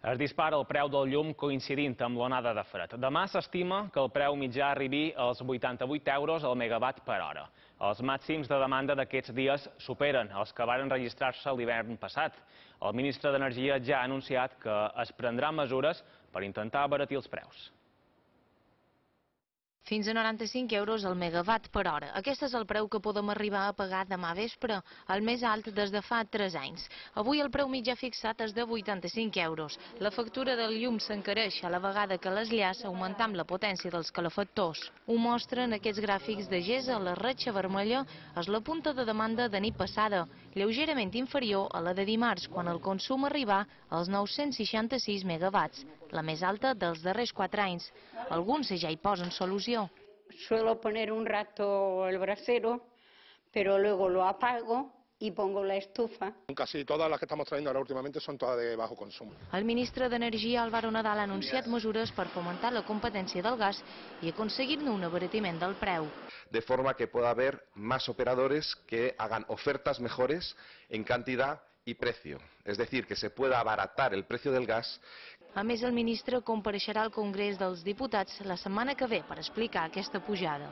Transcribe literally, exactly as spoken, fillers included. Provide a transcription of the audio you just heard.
Es dispara el preu del llum coincidint amb l'onada de fred. Demà s'estima que el preu mitjà arribi als vuitanta-vuit euros al megawatt per hora. Els màxims de demanda d'aquests dies superen els que varen registrar-se l'hivern passat. El ministre d'Energia ja ha anunciat que es prendrà mesures per intentar abaratir els preus. Fins a noranta-cinc euros al megawatt per hora. Aquest és el preu que podem arribar a pagar demà vespre, el més alt des de fa tres anys. Avui el preu mitjà fixat és de vuitanta-cinc euros. La factura del llum s'encareix a la vegada que les llars augmenta amb la potència dels calefactors. Ho mostren aquests gràfics de Gesa. La ratxa vermella és la punta de demanda de nit passada, lleugerament inferior a la de dimarts, quan el consum arribà als nou-cents seixanta-sis megawatts, la més alta dels darrers quatre anys. Alguns ja hi posen solució. Suelo poner un rato el brasero, pero luego lo apago y pongo la estufa. Casi todas las que estamos trayendo ahora últimamente son todas de bajo consumo. El ministre d'Energia, Álvaro Nadal, ha anunciat mesures per fomentar la competència del gas i aconseguir-ne un abaratiment del preu. De forma que pueda haber más operadores que hagan ofertas mejores en cantidad y precio. Es decir, que se pueda abaratar el precio del gas. A més, el ministre compareixerà al Congrés dels Diputats la setmana que ve per explicar aquesta pujada.